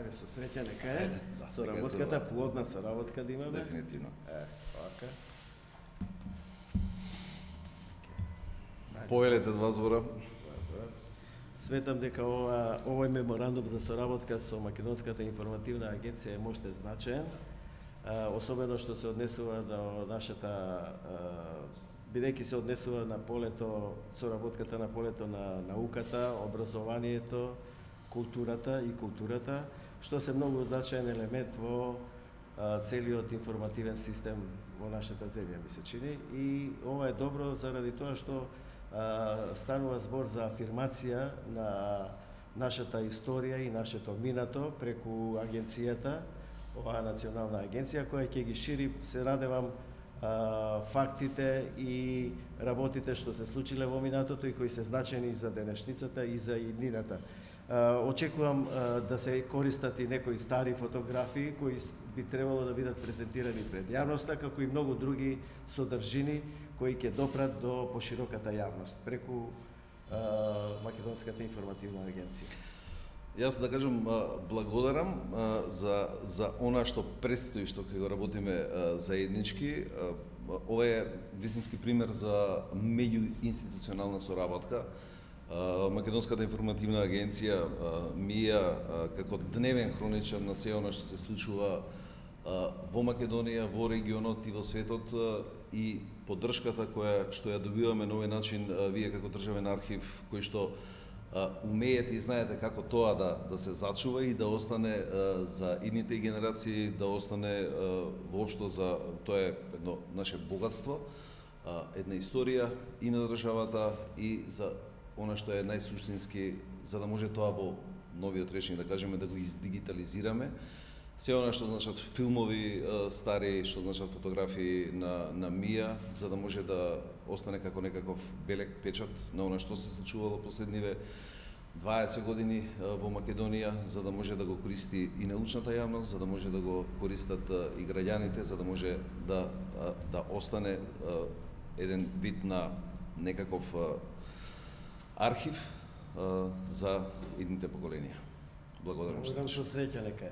Ајде, со среќа, нека е. Соработката, плодна соработка да имаме. Дефинитивно. Така. Повелете два збора. Сметам дека овој меморандум за соработка со Македонската информативна агенција е можете значаен, особено што се однесува до нашата, бидејќи се однесува на полето, соработката на полето на науката, образованието, културата, што се многу значаен елемент во целиот информативен систем во нашата земја, ми се чини. И ова е добро заради тоа што станува збор за афирмација на нашата историја и нашето минато преку агенцијата, оваа национална агенција која ќе ги шири, се надевам, фактите и работите што се случиле во минатото и кои се значени за денешницата и за иднината. Очекувам да се користат и некои стари фотографии кои би требало да бидат презентирани пред јавноста, како и многу други содржини кои ќе допрат до пошироката јавност преку Македонската информативна агенција. Јас да кажам благодарам за она што предстои, што ќе го работиме заеднички. Ова е вистински пример за меѓуинституционална соработка. Македонската информативна агенција МИА како дневен хроничар на се она што се случува во Македонија, во регионот и во светот, и поддршката што ја добиваме на овој начин, вие како државен архив кој што умеете и знаете како тоа да се зачува и да остане за идните генерации, да остане воопшто за тоа е едно наше богатство, една историја и на државата и за она што е најсуштински, за да може тоа во новиот речник да кажеме да го издигитализираме. Се она што значат филмови стари, што значат фотографии на МИА, за да може да остане како некаков белек печат на она што се случувало последниве 20 години во Македонија, за да може да го користи и научната јавност, за да може да го користат и граѓаните, за да може да остане еден вид на некаков архив за идните поколенија. Благодарам што. Благодарам што среќа, нека е.